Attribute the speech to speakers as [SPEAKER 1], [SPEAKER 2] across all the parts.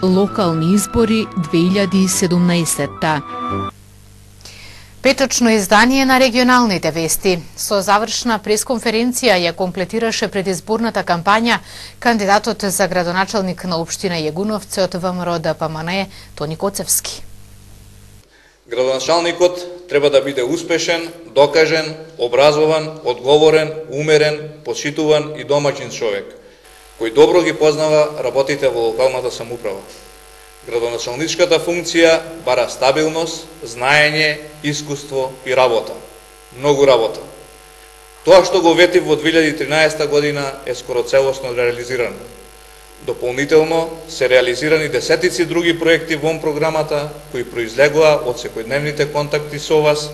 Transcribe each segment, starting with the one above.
[SPEAKER 1] Локални избори 2017.
[SPEAKER 2] Петочно издание на регионалните вести. Со завршна пресконференција ја комплетираше предизборната кампања кандидатот за градоначалник на општина Јегуновци од ВМРО ДПМН Тони Коцевски.
[SPEAKER 3] Градоначалникот треба да биде успешен, докажен, образован, одговорен, умерен, почитуван и домаќин човек, кој добро ги познава работите во локалната самоуправа. Градоначалничката функција бара стабилност, знаење, искуство и работа. Многу работа. Тоа што го ветив во 2013 година е скоро целосно реализирано. Дополнително се реализирани десетици други проекти во програмата кои произлегоа од секојдневните контакти со вас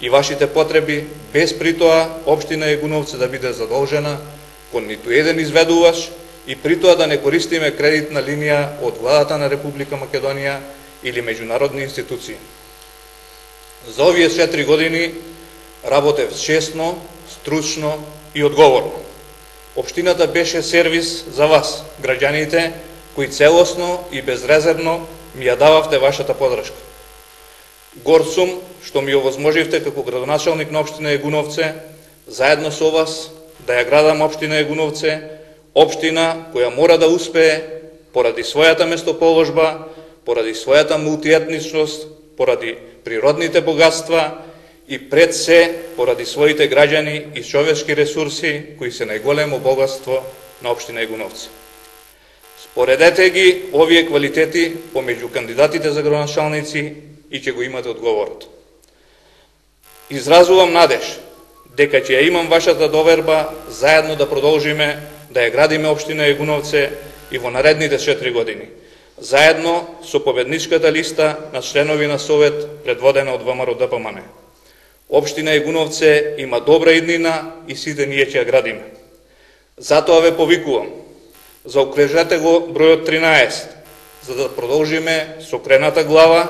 [SPEAKER 3] и вашите потреби, без при тоа општина Јегуновци да биде задолжена кон ниту еден изведувач и при тоа да не користиме кредитна линија од владата на Република Македонија или меѓународни институции. За овие 4 години работев честно, стручно и одговорно. Општината беше сервис за вас, граѓаните, кои целосно и безрезервно ми ја дававте вашата подршка. Горд сум што ми овозможивте како градоначалник на општина Јегуновци, заедно со вас, да ја градам општина Јегуновци, општина која мора да успее поради својата местоположба, поради својата мултиетничност, поради природните богатства и пред се поради своите граѓани и човечки ресурси кои се најголемо богатство на општина Јегуновци. Споредете ги овие квалитети помеѓу кандидатите за градоначалници и ќе го имате одговорот. Изразувам надеж дека ќе ја имам вашата доверба заедно да продолжиме да ја градиме општина Јегуновци и во наредните 4 години, заедно со победничката листа на членови на Совет предводена од ВМРО ДПМН. Општина Јегуновци има добра иднина и сите ние ќе ја градиме. Затоа ве повикувам, заокружете го бројот 13, за да продолжиме со крената глава,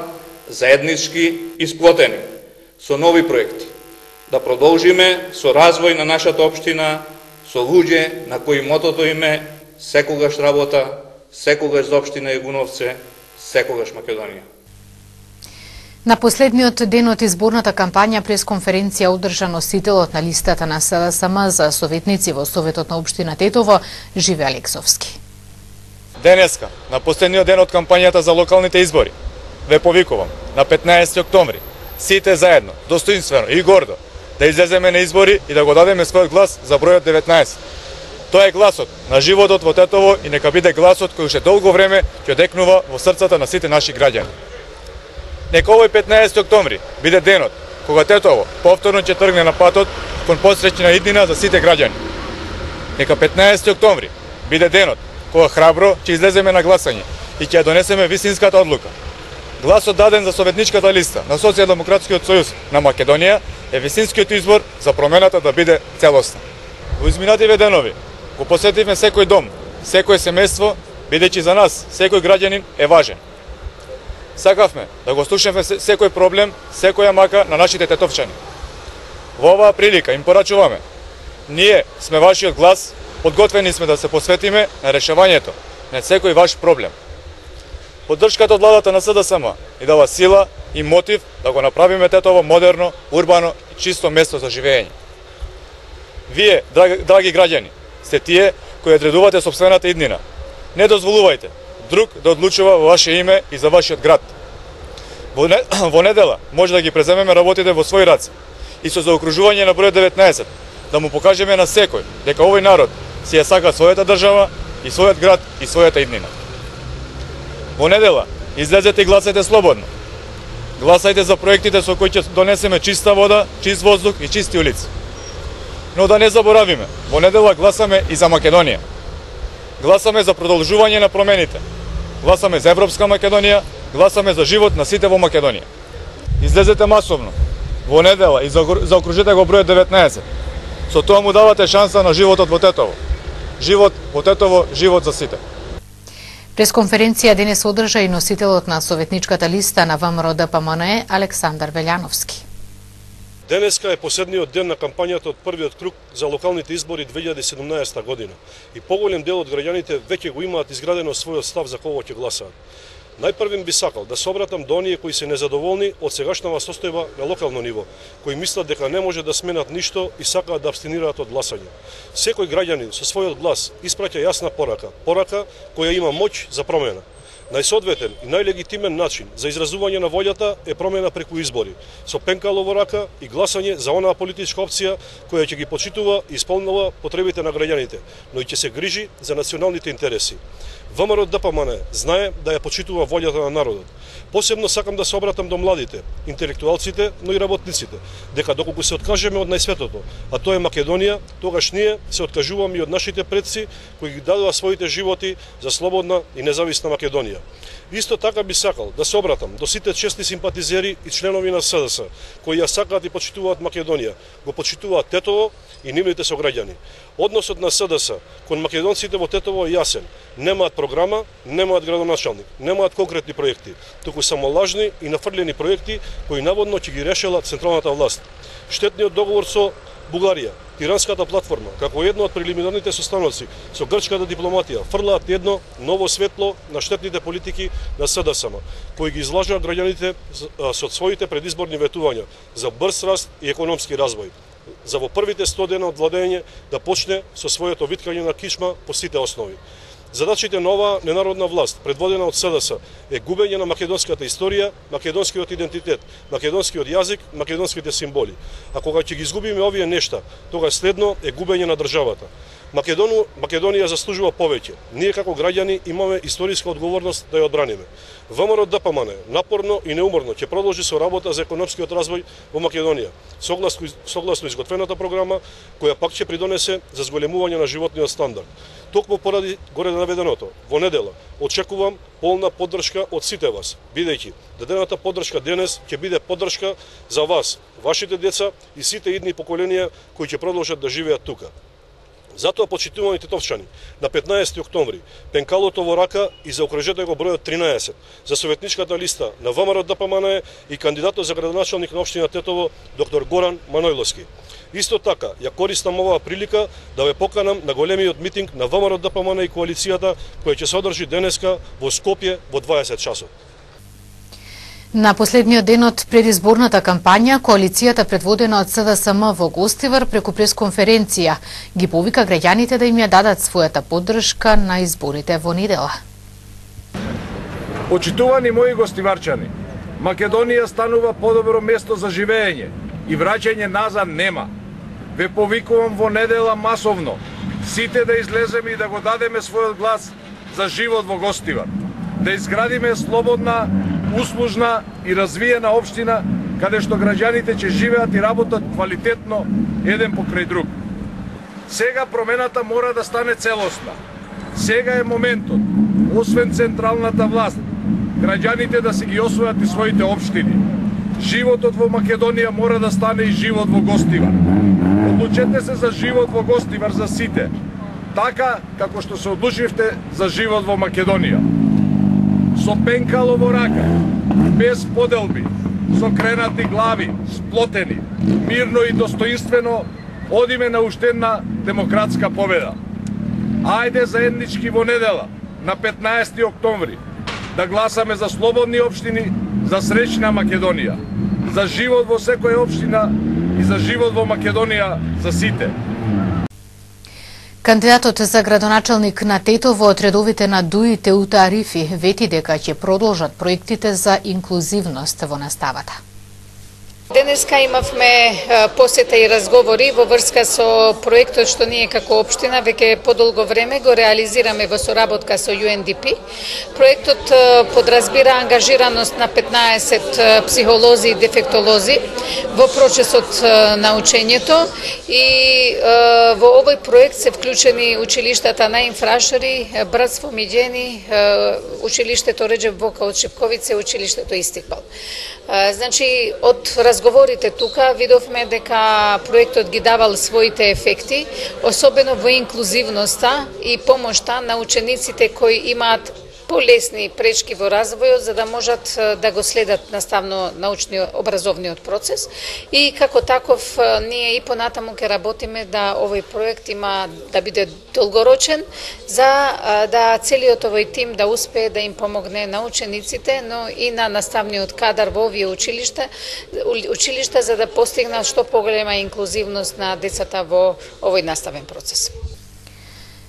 [SPEAKER 3] заеднички и сплотени, со нови проекти, да продолжиме со развој на нашата општина, со луѓе на кои мотото им е секогаш работа, секогаш за општина Јегуновци, секогаш Македонија.
[SPEAKER 2] На последниот ден од изборната кампања пресконференција одржа носителот на листата на СДСМ за советници во Советот на општина Тетово, Живе Алексовски.
[SPEAKER 4] Денеска, на последниот ден од кампањата за локалните избори, ве повикувам на 15 октомври, сите заедно, достоинствено и гордо, да излеземе на избори и да го дадеме својот глас за бројот 19. Тоа е гласот на животот во Тетово и нека биде гласот кој уште долго време ќе одекнува во срцата на сите наши граѓани. Нека овој 15 октомври биде денот кога Тетово повторно ќе тргне на патот кон посреќна иднина за сите граѓани. Нека 15 октомври биде денот кога храбро ќе излеземе на гласање и ќе ја донесеме вистинската одлука. Гласот даден за советничката листа на Социјалдемократскиот сојуз на Македонија е вистинскиот избор за промената да биде целосна. Во изминативе денови го посетивме секој дом, секој семејство, бидејќи за нас секој граѓанин е важен. Сакавме да го слушаме секој проблем, секоја мака на нашите тетовчани. Во оваа прилика им порачуваме. Ние сме вашиот глас, подготвени сме да се посветиме на решавањето на секој ваш проблем. Поддршката од владата на СДСМ ни дава сила и мотив да го направиме Тетово модерно, урбано и чисто место за живење. Вие, драги граѓани, сте тие кои одредувате сопствената иднина. Не дозволувајте друг да одлучува во ваше име и за вашиот град. Во недела може да ги преземеме работите во своји раце и со заокружување на бројот 19 да му покажеме на секој дека овој народ си ја сака својата држава и својот град и својата иднина. Во недела излезете и гласајте слободно. Гласајте за проектите со кои ќе донесеме чиста вода, чист воздух и чисти улици. Но да не заборавиме, во недела гласаме и за Македонија. Гласаме за продолжување на промените. Гласаме за Европска Македонија, гласаме за живот на сите во Македонија. Излезете масовно, во недела и заокружете го бројот 19. Со тоа му давате шанса на животот во Тетово. Живот во Тетово, живот за сите.
[SPEAKER 2] Пресконференција денес одржа и носителот на советничката листа на ВМРО ДПМН Александар Велјановски.
[SPEAKER 5] Денеска е последниот ден на кампањата од првиот круг за локалните избори 2017 година и поголем дел од граѓаните веќе го имаат изградено својот став за кого ќе гласаат. Најпрвим би сакал да се обратам до оние кои се незадоволни од сегашната состојба на локално ниво, кои мислат дека не може да сменат ништо и сакаат да абстинираат од гласање. Секој граѓанин со својот глас испраќа јасна порака која има моќ за промена. Најсоодветен и најлегитимен начин за изразување на волјата е промена преку избори, со пенкало во рака и гласање за онаа политичка опција која ќе ги почитува и исполнува потребите на граѓаните, но и ќе се грижи за националните интереси. ВМРО ДПМН знае да ја почитува волјата на народот. Посебно сакам да се обратам до младите, интелектуалците, но и работниците, дека доколку се откажеме од најсветото, а тоа е Македонија, тогаш ние се откажуваме и од нашите предци кои ги дадоа своите животи за слободна и независна Македонија. Исто така би сакал да се обратам до сите честни симпатизери и членови на СДС, кои ја сакаат и почитуваат Македонија, го почитуваат Тетово и нивните сограѓани. Односот на СДС кон македонците во Тетово е јасен. Немаат програма, немаат градоначалник, немаат конкретни проекти, туку само лажни и нафрлени проекти кои наводно ќе ги решела централната власт. Штетниот договор со Бугарија, Тиранската платформа, како едно од прелиминарните состаноци со грчката дипломатија, фрлаат едно ново светло на штетните политики на СДСМ, кои ги излажаат граѓаните со своите предизборни ветувања за брз раст и економски развој, за во првите 100 дена од владење да почне со своето виткање на кичма по сите основи. Задачите на оваа ненародна власт, предводена од СДС, е губење на македонската историја, македонскиот идентитет, македонскиот јазик, македонските символи. А кога ќе ги изгубиме овие нешта, тога следно е губење на државата. Македонија заслужува повеќе. Ние како граѓани имаме историска одговорност да ја одбраниме. ВМРО ДПМН напорно и неуморно ќе продолжи со работа за економскиот развој во Македонија, согласно изготвената програма, која пак ќе придонесе за зголемување на животниот стандард. Токму поради горе наведеното, во недела очекувам полна поддршка од сите вас, бидејќи дадената поддршка денес ќе биде поддршка за вас, вашите деца и сите идни поколенија кои ќе продолжат да живеат тука. Затоа, почитувани тетовчани, на 15 октомври, пенкалото во рака и заокружете го бројот 13 за советничката листа на ВМРО ДПМН и кандидатот за градоначалник на општина Тетово, доктор Горан Манојловски. Исто така, ја користам оваа прилика да ве поканам на големиот митинг на ВМРО ДПМН и коалицијата, која ќе се одржи денеска во Скопје во 20 часот.
[SPEAKER 2] На последниот ден од предизборната кампања, коалицијата предводена од СДСМ во Гостивар преку пресконференција ги повика граѓаните да им ја дадат својата поддршка на изборите во недела.
[SPEAKER 6] Почитувани мои гостиварчани, Македонија станува подобро место за живење и враќање назад нема. Ве повикувам во недела масовно, сите да излеземе и да го дадеме својот глас за живот во Гостивар. Да изградиме слободна, услужна и развиена општина каде што граѓаните ќе живеат и работат квалитетно еден покрај друг. Сега промената мора да стане целосна. Сега е моментот, освен централната власт, граѓаните да си ги освојат и своите општини. Животот во Македонија мора да стане и живот во Гостивар. Одлучете се за живот во Гостивар за сите, така како што се одлучивте за живот во Македонија. Со пенкало во рака, без поделби, со кренати глави, сплотени, мирно и достоинствено одиме на уште една демократска победа. Ајде заеднички во недела, на 15 октомври, да гласаме за слободни општини, за среќна Македонија, за живот во секоја општина и за живот во Македонија за сите.
[SPEAKER 2] Кандидатот за градоначалник на Тетово од редовите на Дуи Теута Арифи вети дека ќе продолжат проектите за инклузивност во наставата.
[SPEAKER 7] Денеска имавме посета и разговори во врска со проектот што ние како општина веќе подолго време го реализираме во соработка со UNDP. Проектот подразбира ангажираност на 15 психолози и дефектолози во процесот на учењето и во овој проект се вклучени училиштата на Инфрашари, Братство Миѓени, училиштето Реџеп Бока од Шипковице, училиштето Истикбал. Значи, од разговорите тука видовме дека проектот ги давал своите ефекти, особено во инклузивноста и помошта на учениците кои имаат полесни пречки во развојот за да можат да го следат наставно научниот образовниот процес и како таков ние и понатаму ќе работиме да овој проект има да биде долгорочен за да целиот овој тим да успее да им помогне на учениците, но и на наставниот кадар во овие училишта за да постигнат што поголема инклузивност на децата во овој наставен процес.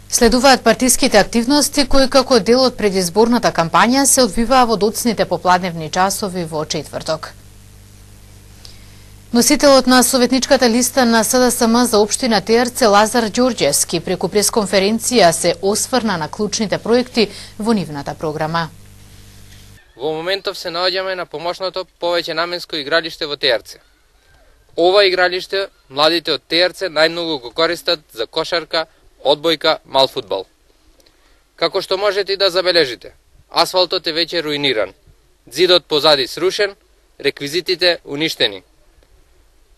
[SPEAKER 2] Следуваат партиските активности кои како дел од предизборната кампања се одвиваа во доцните попладневни часови во четврток. Носителот на советничката листа на СДСМ за општина Теарце Лазар Ѓорѓевски преку пресконференција се осврна на клучните проекти во нивната програма.
[SPEAKER 8] Во моментов се наоѓаме на помошното повеќе наменско игралиште во Теарце. Ова игралиште младите од Теарце најмногу го користат за кошарка, одбојка, мал фудбал. Како што можете и да забележите, асфалтот е веќе руиниран, зидот позади срушен, реквизитите уништени.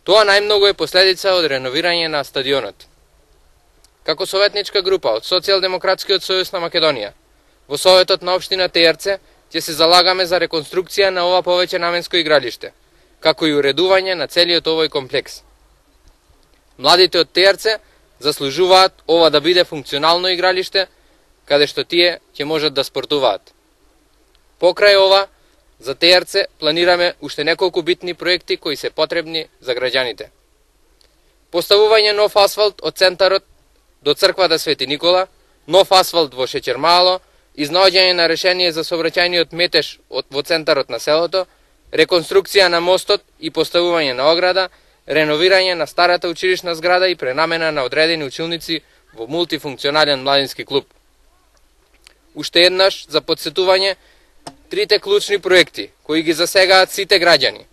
[SPEAKER 8] Тоа најмногу е последица од реновирање на стадионот. Како советничка група од Социјалдемократскиот сојуз на Македонија, во Советот на општина Теарце ќе се залагаме за реконструкција на ова повеќе наменско игралиште, како и уредување на целиот овој комплекс. Младите од Теарце заслужуваат ова да биде функционално игралиште, каде што тие ќе можат да спортуваат. Покрај ова, за Теарце планираме уште неколку битни проекти кои се потребни за граѓаните. Поставување нов асфалт од центарот до црквата Свети Никола, нов асфалт во Шеќермало, изнаоѓање на решение за сообраќајниот метеж во центарот на селото, реконструкција на мостот и поставување на ограда, реновирање на старата училишна зграда и пренамена на одредени училници во мултифункционален младински клуб. Уште еднаш за подсетување трите клучни проекти кои ги засегаат сите граѓани,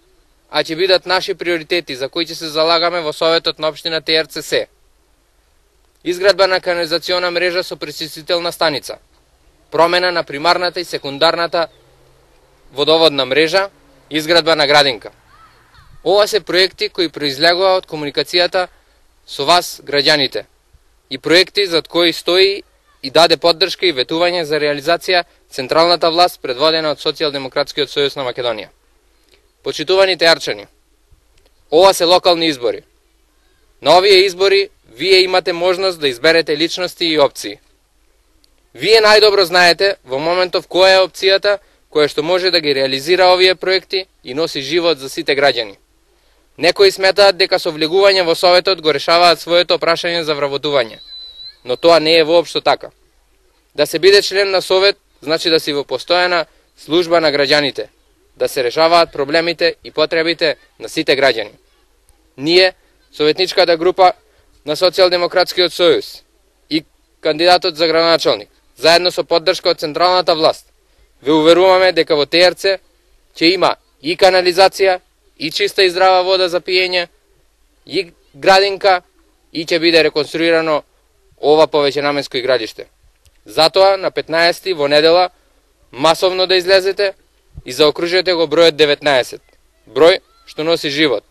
[SPEAKER 8] а ќе бидат наши приоритети за кои ќе се залагаме во Советот на општина Теарце се: изградба на канализациона мрежа со пречистителна станица, промена на примарната и секундарната водоводна мрежа, изградба на градинка. Ова се проекти кои произлегува од комуникацијата со вас, граѓаните, и проекти за кои стои и даде поддршка и ветување за реализација централната власт предводена од Социјалдемократскиот сојуз на Македонија. Почитувани теарчани, ова се локални избори. На овие избори вие имате можност да изберете личности и опции. Вие најдобро знаете во моментов која е опцијата која што може да ги реализира овие проекти и носи живот за сите граѓани. Некои сметаат дека со влегување во Советот го решаваат своето прашање за вработување, но тоа не е воопшто така. Да се биде член на Совет значи да си во постојана служба на граѓаните, да се решаваат проблемите и потребите на сите граѓани. Ние, советничката група на Социјалдемократскиот сојуз и кандидатот за градоначалник, заедно со поддршка од централната власт, ве уверуваме дека во Теарце ќе има и канализација, и чиста и здрава вода за пиење, и градинка, и ќе биде реконструирано ова повеќе наменско игралиште. Затоа на 15 во недела масовно да излезете и заокружете го бројот 19. Број што носи живот.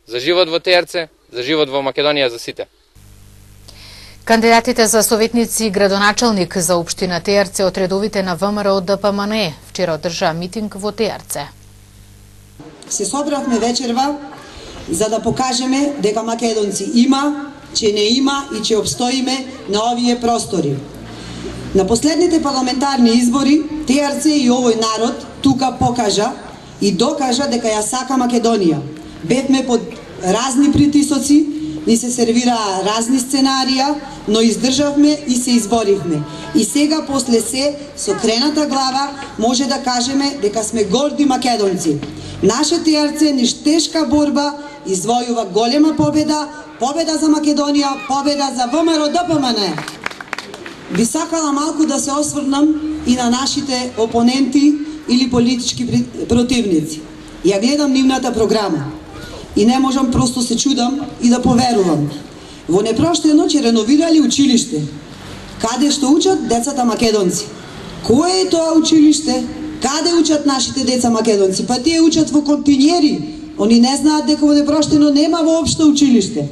[SPEAKER 8] За живот во Теарце, за живот во Македонија за сите.
[SPEAKER 2] Кандидатите за советници и градоначалник за општина Теарце од редовите на ВМРО ДПМНЕ вчера одржаа митинг во Теарце.
[SPEAKER 9] Се собравме вечерва за да покажеме дека македонци има, че не има и че обстоиме на овие простори. На последните парламентарни избори Теарце и овој народ тука покажа и докажа дека ја сака Македонија. Бевме под разни притисоци, ни се сервираа разни сценарија, но издржавме и се изборивме. И сега после се со крената глава може да кажеме дека сме горди македонци. Наше Теарце низ тешка борба извојува голема победа, победа за Македонија, победа за ВМРО ДПМНЕ. Би сакала малку да се осврнам и на нашите опоненти или политички противници. Ја гледам нивната програма и не можам, просто се чудам и да поверувам. Во непроштено ќе реновирали училиште, каде што учат децата македонци. Кое е тоа училиште? Каде учат нашите деца македонци? Па тие учат во континјери. Они не знаат дека во непроштено нема воопшто училиште.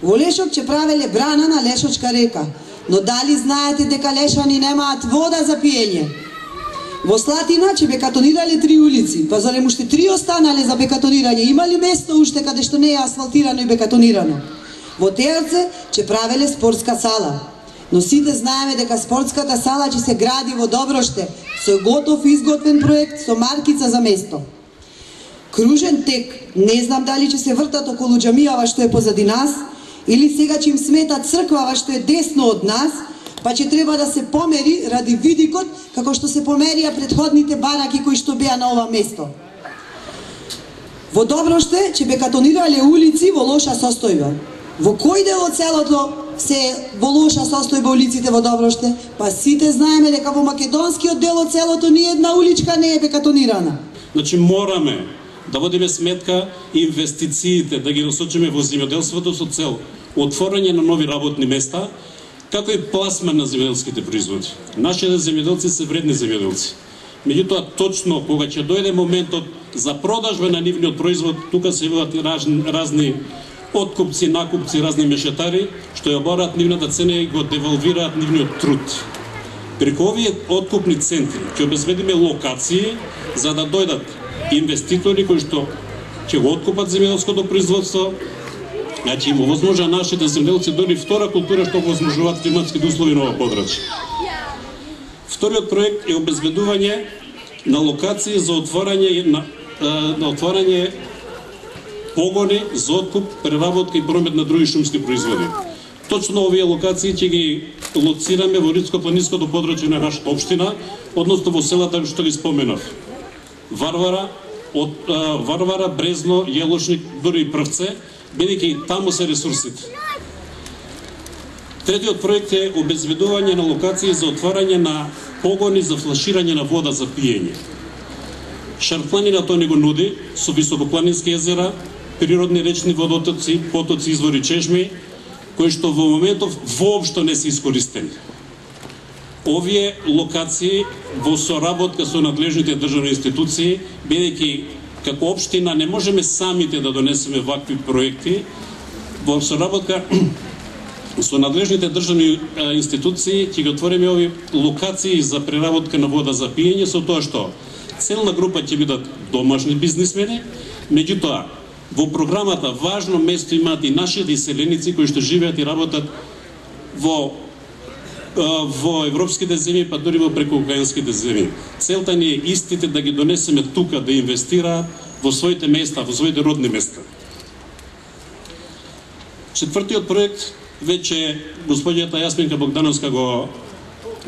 [SPEAKER 9] Во Лешок ќе правеле брана на Лешочка река. Но дали знаете дека Лешани немаат вода за пиење? Во Слатина ќе бекатонирале 3 улици, па зарем уште 3 останале за бекатонирање? Има ли место уште каде што не е асфалтирано и бекатонирано? Во Тејарце ќе правеле спортска сала. Но сите знаеме дека спортската сала ќе се гради во Доброште со готов изготвен проект со маркица за место. Кружен тек, не знам дали ќе се вртат околу џамијава што е позади нас, или сега ќе им смета црквава што е десно од нас, па ќе треба да се помери ради видикот како што се померија претходните бараки кои што беа на ова место. Во Доброште ќе бекатонирале улици во лоша состојба. Во кој дел од селото се во лоша состојба улиците во Доброште? Па сите знаеме дека во македонскиот дел од селото ни една уличка не е бекатонирана.
[SPEAKER 10] Значи мораме да водиме сметка инвестициите, да ги насочиме во земјоделството со цел отворање на нови работни места, како и пласман на земјоделските производи. Нашите земјоделци се вредни земјоделци. Меѓутоа, точно кога ќе дојде моментот за продажба на нивниот производ, тука се явуваат разни откупци, накупци, разни мешетари, што ја обораат нивната цена и го девалвираат нивниот труд. Преку овие откупни центри ќе обезбедиме локации за да дојдат инвеститори кои што ќе го откупат земјоделското производство, значи им овозможа нашите земјоделци дори втора култура што овозможуваат климатските услови на ова подрачје. Вториот проект е обезбедување на локации за отворање погони за откуп, преработка и промет на други шумски производи. Точно овие локации ќе ги лоцираме во Ридско-планинското подрачје на нашата општина, односно во селата што ги споменав. Варвара, Брезно, Јелошник, дури и Првце, бидејќи таму се ресурсите. Третиот проект е обезбедување на локации за отварање на погони за флаширање на вода за пиење. Шарпланина тоа не го нуди, со високопланински езера, природни речни водотоци, потоци, извори, чешми, кои што во моментов воопшто не се искористени. Овие локации во соработка со надлежните државни институции, бидејќи како општина не можеме самите да донесеме вакви проекти, во соработка со надлежните државни институции ќе ги отвориме овие локации за преработка на вода за пиење, со тоа што целна група ќе бидат домашни бизнисмени, меѓутоа во програмата важно место имаат и нашите иселеници кои што живеат и работат во европските земји, па дури во прекуокеанските земји. Целта ни е истите да ги донесеме тука да инвестираат во своите места, во своите родни места. Четвртиот проект веќе господјата Јасминка Богдановска го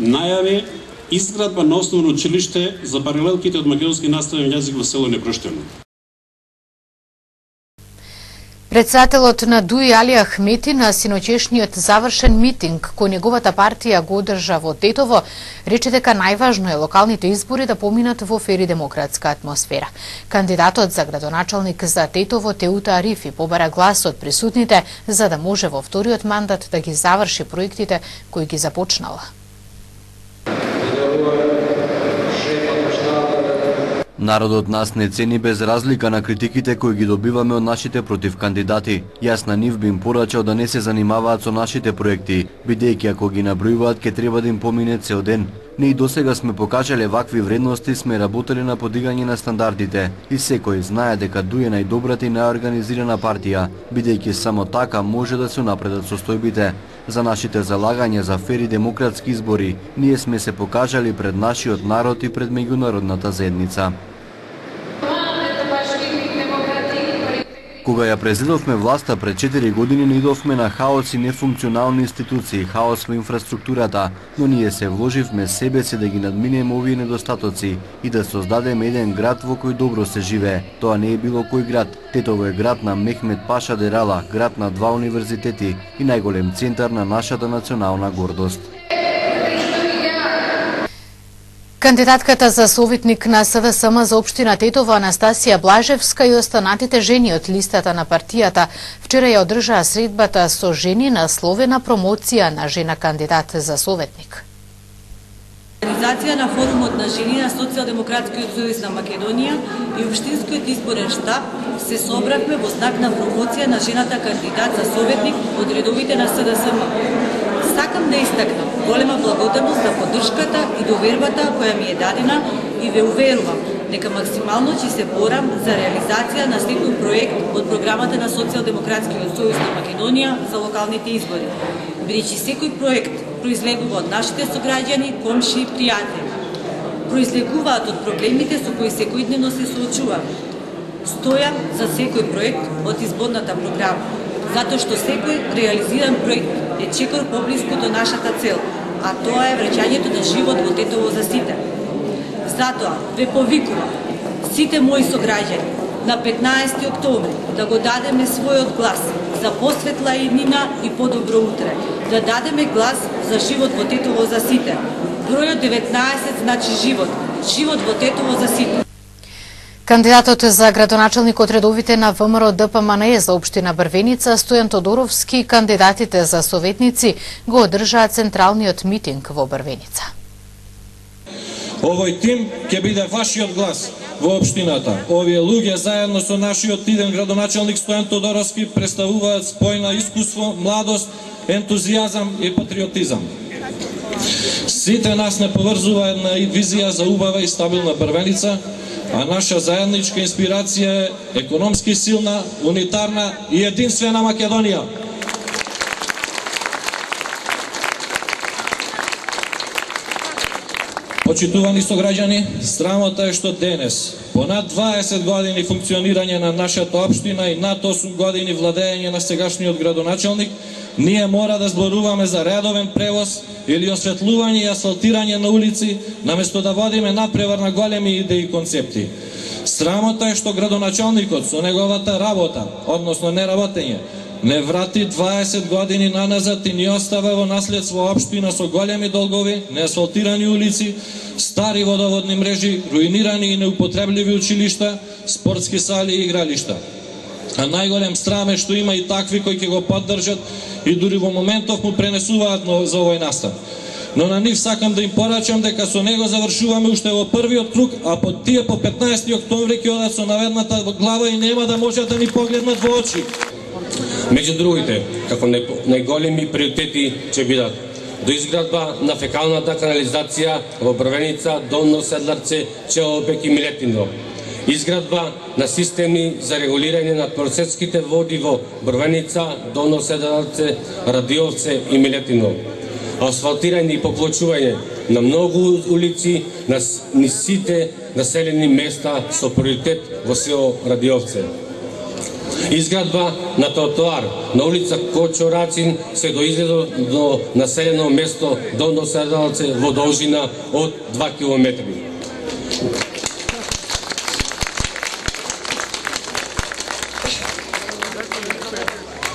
[SPEAKER 10] најави, изградба на основно училиште за паралелките од македонски наставен јазик во село Непроштено.
[SPEAKER 2] Председателот на ДУИ Али Ахмети на синоќешниот завршен митинг кој неговата партија го одржа во Тетово, рече дека најважно е локалните избори да поминат во фер и демократска атмосфера. Кандидатот за градоначалник за Тетово Теута Арифи побара глас од присутните за да може во вториот мандат да ги заврши проектите кои ги започнала.
[SPEAKER 11] Народот нас не цени без разлика на критиките кои ги добиваме од нашите против кандидати. Јас на нив би им порачал да не се занимаваат со нашите проекти, бидејќи ако ги набројуваат ќе треба да им помине цел ден. Ние и досега сме покажале вакви вредности, сме работеле на подигање на стандардите и секој знае дека ДУИ е најдобрата и најорганизирана партија, бидејќи само така може да се унапредат состојбите. За нашите залагања за фер и демократски избори, ние сме се покажали пред нашиот народ и пред меѓународната заедница. Кога ја презедовме власта пред 4 години, наидовме на хаос и нефункционални институции, хаос во инфраструктурата, но ние се вложивме себе си да ги надминеме овие недостатоци и да создадеме еден град во кој добро се живее. Тоа не е било кој град. Тетово е град на Мехмед Паша Дерала, град на 2 универзитети и најголем центар на нашата национална гордост.
[SPEAKER 2] Кандидатката за советник на СДСМ за општина Тетово Анастасија Блажевска и останатите жени од листата на партијата вчера ја одржаа средбата со жени насловена промоција на жена кандидат за советник.
[SPEAKER 12] Организација на форумот на жени на Социјалдемократскиот сојуз на Македонија и општинскиот изборен штаб се собравме во знак на промоција на жената кандидат за советник од редовите на СДСМ. Сакам да истакнам голема благодарност за поддршката и довербата која ми е дадена и ве уверувам дека максимално ќе се борам за реализација на секој проект од програмата на Социјалдемократскиот сојуз на Македонија за локалните избори, бидејќи секој проект произлегува од нашите сограѓани, комши и пријатели. Произлегуваат од проблемите со кои секојдневно се соочуваме. Стојам за секој проект од изборната програма, затоа што секој реализиран проект е чекор поблиску до нашата цел, а тоа е враќањето на живот во Тетово за сите. Затоа ве повикувам сите мои сограѓани на 15 октомври да го дадеме својот глас за посветла иднина и подобро утре, да дадеме глас за живот во Тетово за сите. Бројот 19 значи живот, живот во Тетово за сите.
[SPEAKER 2] Кандидатот за градоначалник од редовите на ВМРО ДПМНЕ за општина Брвеница, Стојан Тодоровски, и кандидатите за советници го одржаа централниот митинг во Брвеница.
[SPEAKER 13] Овој тим ќе биде вашиот глас во општината. Овие луѓе заедно со нашиот иден градоначалник Стојан Тодоровски представуваат спојна искуство, младост, ентузијазам и патриотизам. Сите нас не поврзува една визија за убава и стабилна Брвеница, а наша заедничка инспирација е економски силна, унитарна и единствена Македонија. Почитувани сограѓани, срамота е што денес, по над 20 години функционирање на нашата општина и над 8 години владење на сегашниот градоначалник, ние мора да зборуваме за редовен превоз или осветлување и асфалтирање на улици, наместо да водиме надпревар на големи идеи и концепти. Срамота е што градоначалникот со неговата работа, односно неработење, не врати 20 години наназад и ни остава во наследство општина со големи долгови, неасфалтирани улици, стари водоводни мрежи, руинирани и неупотребливи училишта, спортски сали и игралишта. А најголем срам е што има и такви кои ќе го поддржат и дури во моментов му пренесуваат за овој настан. Но на нив сакам да им порачам дека со него завршуваме уште во првиот круг, а под тие по 15 октомври ќе одат со наведната глава и нема да можат да ни погледнат во очи.
[SPEAKER 14] Меѓу другите, како најголеми приоритети ќе бидат доизградба на фекалната канализација во Брвеница, Долно Седларце, Челопек и Милетино, изградба на системи за регулирање на просечките води во Брвеница, Долно Седларце, Радиовце и Милетино, асфалтирање и поплочување на многу улици на сите населени места со приоритет во село Радиовце. Изградба на тротоар на улица Кочо Рацин се до изгледа до населено место Долно Седларце во должина од 2 км.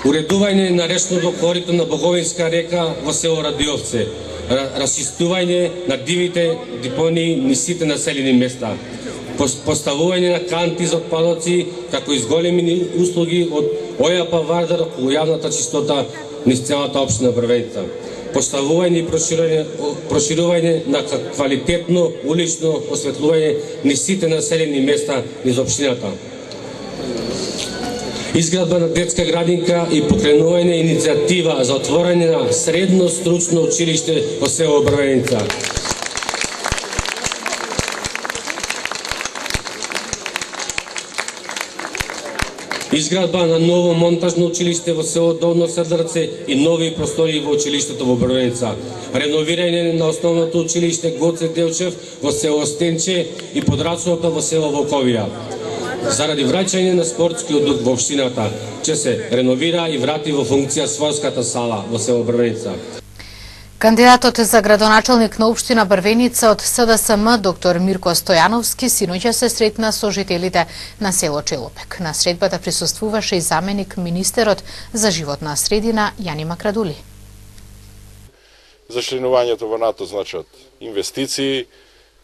[SPEAKER 14] Уредување на речното корито на Боговинска река во село Радиовце, расчистување на дивите депонии низ сите населени места, поставување на канти за отпадоци, како и зголемени услуги од ОЈАП Вардар во јавната чистота низ целата општина Брвеница, поставување и проширување на квалитетно улично осветлување низ сите населени места низ општината, изградба на детска градинка и покренување иницијатива за отворање на средно стручно училиште во село Брвеница. Изградба на ново монтажно училиште во село Долно Седларце и нови простори во училиштето во Брвеница. Реновирање на основното училиште Гоце Делчев во село Стенче и подрачното во село Волковија. Заради враќање на спортскиот дух во општината, ќе се реновира и врати во функција спортската сала во село Брвеница.
[SPEAKER 2] Кандидатот за градоначалник на општина Брвеница од СДСМ, доктор Мирко Стојановски, синоќа се сретна со жителите на село Челопек. На средбата присуствуваше и заменик министерот за животна средина Јани Макрадули.
[SPEAKER 15] За членувањето во НАТО значат инвестиции,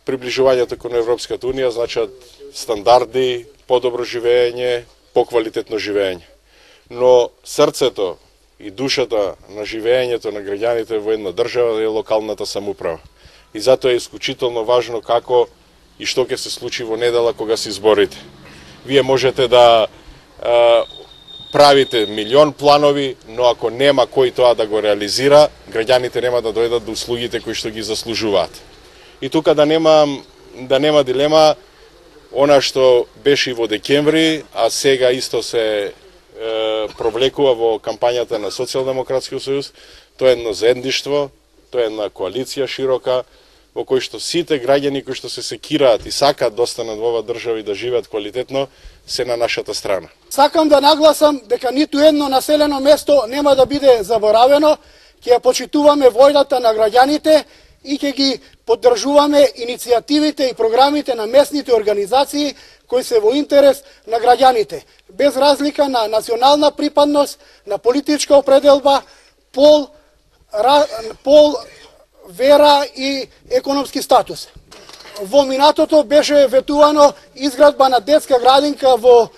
[SPEAKER 15] приближувањето кон Европската унија значат стандарди, подобро живење, поквалитетно живење. Но срцето и душата на живењето на граѓаните во една држава е локалната самоуправа. И затоа е исклучително важно како и што ќе се случи во недела кога се изборите. Вие можете да правите милион планови, но ако нема кој тоа да го реализира, граѓаните нема да дојдат до услугите кои што ги заслужуваат. И тука да нема дилема, она што беше во декември, а сега исто се провлекува во кампањата на Социјалдемократскиот сојуз, тоа е едно заедништво, тоа е една коалиција широка, во кој што сите граѓани кои што се секираат и сакаат да останат во оваа држава и да живеат квалитетно, се на нашата страна.
[SPEAKER 16] Сакам да нагласам дека ниту едно населено место нема да биде заборавено, ќе ја почитуваме војната на граѓаните и ќе ги поддржуваме иницијативите и програмите на местните организации кои се во интерес на граѓаните, без разлика на национална припадност, на политичка определба, пол, вера и економски статус. Во минатото беше ветувано изградба на детска градинка во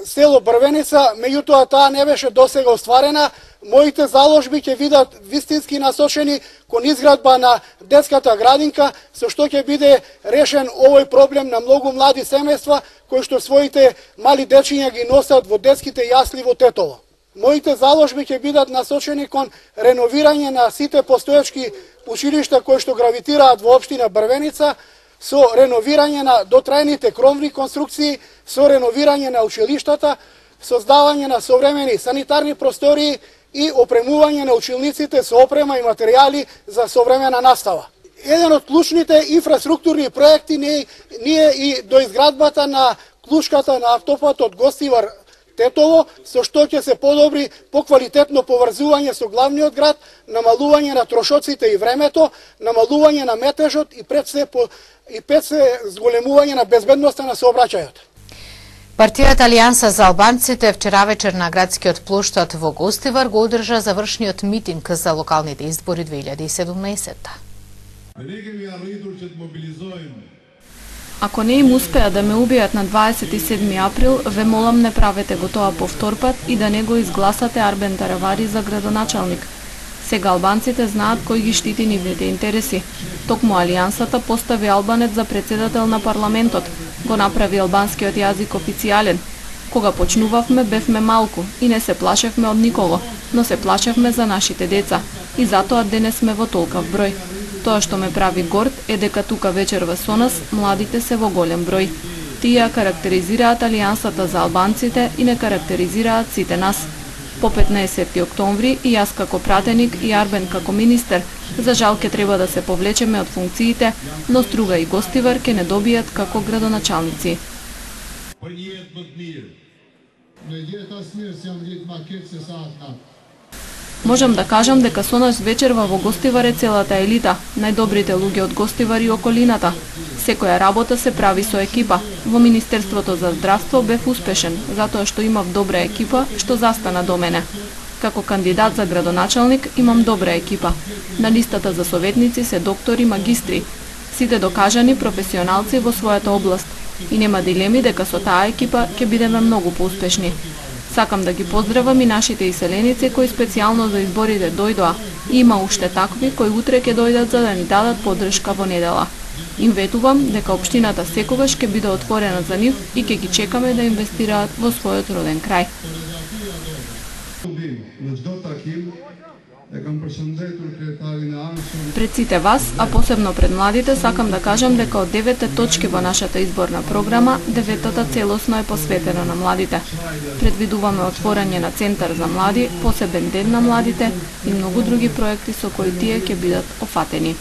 [SPEAKER 16] село Брвеница, меѓутоа таа не беше досега остварена. Моите заложби ќе видат вистински насочени кон изградба на детската градинка, со што ќе биде решен овој проблем на многу млади семејства кои што своите мали дечиња ги носат во детските јасли во Тетово. Моите заложби ќе бидат насочени кон реновирање на сите постоечки училишта кои што гравитираат во општина Брвеница, со реновирање на дотрајните кровни конструкции, со реновирање на училиштата, создавање на современи санитарни простории и опремување на училниците со опрема и материјали за современа настава. Еден од клучните инфраструктурни проекти ние и до изградбата на клучката на автопатот Гостивар Тетово, со што ќе се подобри поквалитетно поврзување со главниот град, намалување на трошоците и времето, намалување на метежот и пред се зголемување на безбедноста на сообраќајот.
[SPEAKER 2] Партијата Алијанса за албанците вчера вечер на градскиот плоштад во Гостивар го одржа завршниот митинг за локалните избори 2017.
[SPEAKER 17] Ако не им успеа да ме убијат на 27 април, ве молам не правете го тоа повторпат и да не го изгласате Арбен Таравари за градоначалник. Сега албанците знаат кој ги штити нивните интереси. Токму Алијансата постави албанец за председател на парламентот, го направи албанскиот јазик официјален. Кога почнувавме, бевме малку и не се плашевме од никого, но се плашевме за нашите деца и затоа денес сме во толкав број. Тоа што ме прави горд е дека тука вечерва со нас младите се во голем број. Тие карактеризираат Алијансата за албанците и не карактеризираат сите нас. По 15 октомври и јас како пратеник и Арбен како министер, за жал ке треба да се повлечеме од функциите, но Струга и Гостивар ке не добијат како градоначалници. Можам да кажам дека со нас вечерва во Гостивар е целата елита, најдобрите луѓе од Гостивар и околината. Секоја работа се прави со екипа. Во Министерството за здравство бев успешен, затоа што имав добра екипа што застана до мене. Како кандидат за градоначалник имам добра екипа. На листата за советници се доктори, магистри, сите докажани професионалци во својата област. И нема дилеми дека со таа екипа ќе бидеме многу поуспешни. Сакам да ги поздравам и нашите иселеници кои специјално за изборите дојдоа. Има уште такви кои утре ќе дојдат за да ни дадат поддршка во недела. Им ветувам дека општината секогаш ќе биде отворена за нив и ќе ги чекаме да инвестираат во својот роден крај. Пред сите вас, а посебно пред младите, сакам да кажам дека од 9 точки во нашата изборна програма, 9-та целосно е посветена на младите. Предвидуваме отворање на центар за млади, посебен ден на младите и многу други проекти со кои тие ќе бидат офатени.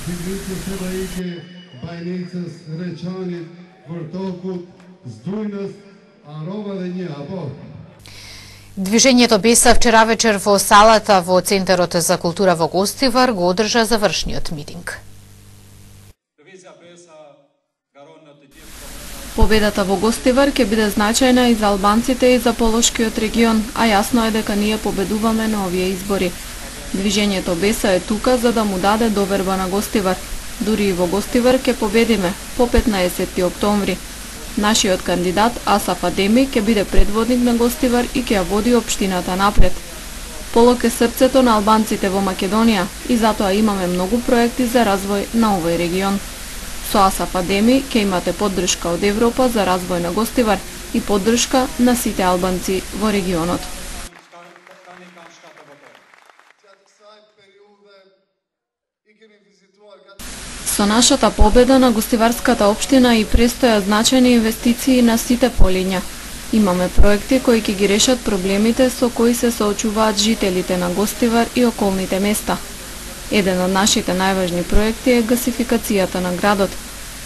[SPEAKER 2] Движењето Беса вчера вечер во салата во Центарот за култура во Гостивар го одржа завршниот митинг.
[SPEAKER 17] Победата во Гостивар ќе биде значајна и за албанците и за Полошкиот регион, а јасно е дека ние победуваме на овие избори. Движењето Беса е тука за да му даде доверба на Гостивар. Дури и во Гостивар ќе победиме по 15 октомври. Нашиот кандидат Асаф Адеми ќе биде предводник на Гостивар и ќе ја води општината напред. Полок е срцето на албанците во Македонија и затоа имаме многу проекти за развој на овој регион. Со Асаф Адеми ќе имате поддршка од Европа за развој на Гостивар и поддршка на сите албанци во регионот. Со нашата победа на гостиварската општина и престоја значајни инвестиции на сите полиња. Имаме проекти кои ќе ги решат проблемите со кои се соочуваат жителите на Гостивар и околните места. Еден од нашите најважни проекти е гасификацијата на градот.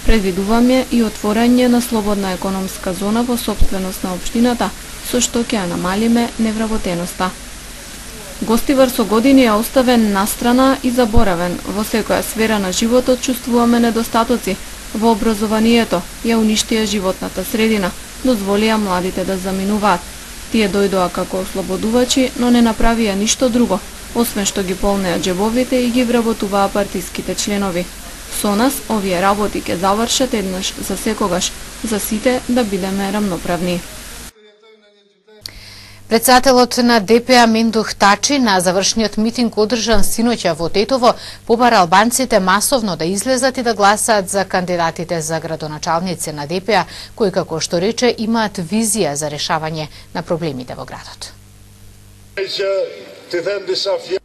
[SPEAKER 17] Предвидуваме и отворање на слободна економска зона во сопственост на општината, со што ќе ја намалиме невработеноста. Гостивар со години е оставен настрана и заборавен. Во секоја сфера на животот чувствуваме недостатоци. Во образованието ја уништија животната средина, дозволија младите да заминуваат. Тие дојдоа како ослободувачи, но не направија ништо друго, освен што ги полнеа џебовите и ги вработуваа партиските членови. Со нас овие работи ќе завршат еднаш за секогаш, за сите да бидеме рамноправни.
[SPEAKER 2] Председателот на ДПА Мендух Тачи на завршниот митинг одржан синоќа во Тетово побара албанците масовно да излезат и да гласаат за кандидатите за градоначалници на ДПА, кои, како што рече, имаат визија за решавање на проблемите во градот.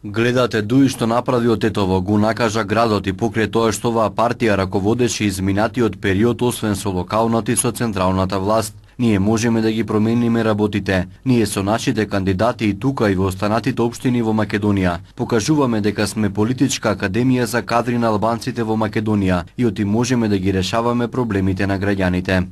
[SPEAKER 11] Гледате дуи што направи од Тетово, го накажа градот и покрај тоа што оваа партија раководеше изминатиот период освен со локалната и со централната власт. Ние можеме да ги промениме работите. Ние со нашите кандидати и тука и во останатите општини во Македонија покажуваме дека сме политичка академија за кадри на албанците во Македонија и оти можеме да ги решаваме проблемите на граѓаните.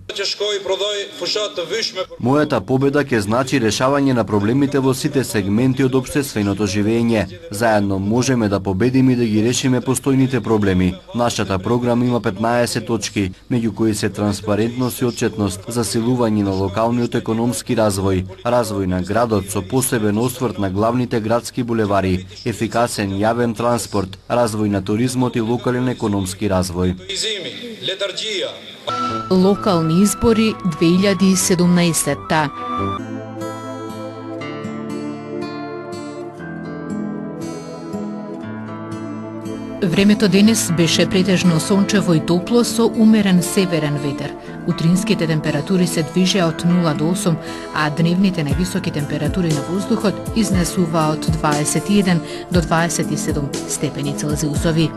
[SPEAKER 11] Мојата победа ќе значи решавање на проблемите во сите сегменти од општественото живење. Заедно можеме да победиме и да ги решиме постојните проблеми. Нашата програма има 15 точки, меѓу кои се транспарентност и отчетност, засилување на локалниот економски развој, развој на градот со посебен осврт на главните градски булевари, ефикасен јавен транспорт, развој на туризмот и локален економски развој.
[SPEAKER 1] Локални избори 2017. Времето денес беше претежно сончево и топло со умерен северен ветер. Утринските температури се движеа од 0 до 8, а дневните највисоки температури на воздухот изнесуваа од 21 до 27 степени Целзиусови.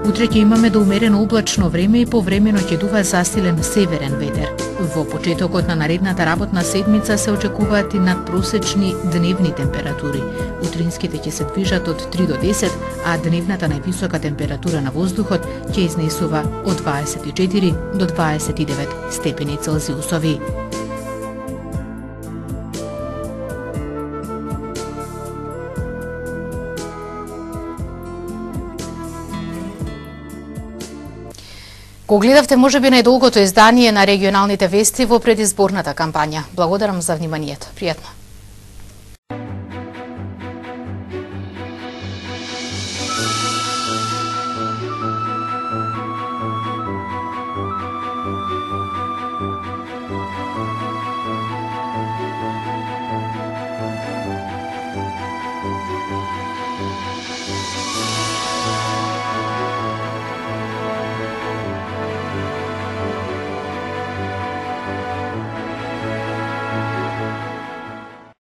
[SPEAKER 1] Утре ќе имаме до умерено облачно време и повремено ќе дува засилен северен ветер. Во почетокот на наредната работна седмица се очекуваат и надпросечни дневни температури. Утринските ќе се движат од 3 до 10, а дневната највисока температура на воздухот ќе изнесува од 24 до 29 степени Целзиусови. Го гледавте можеби најдолгото издание на регионалните вести во предизборната кампања. Благодарам за вниманието. Пријатно.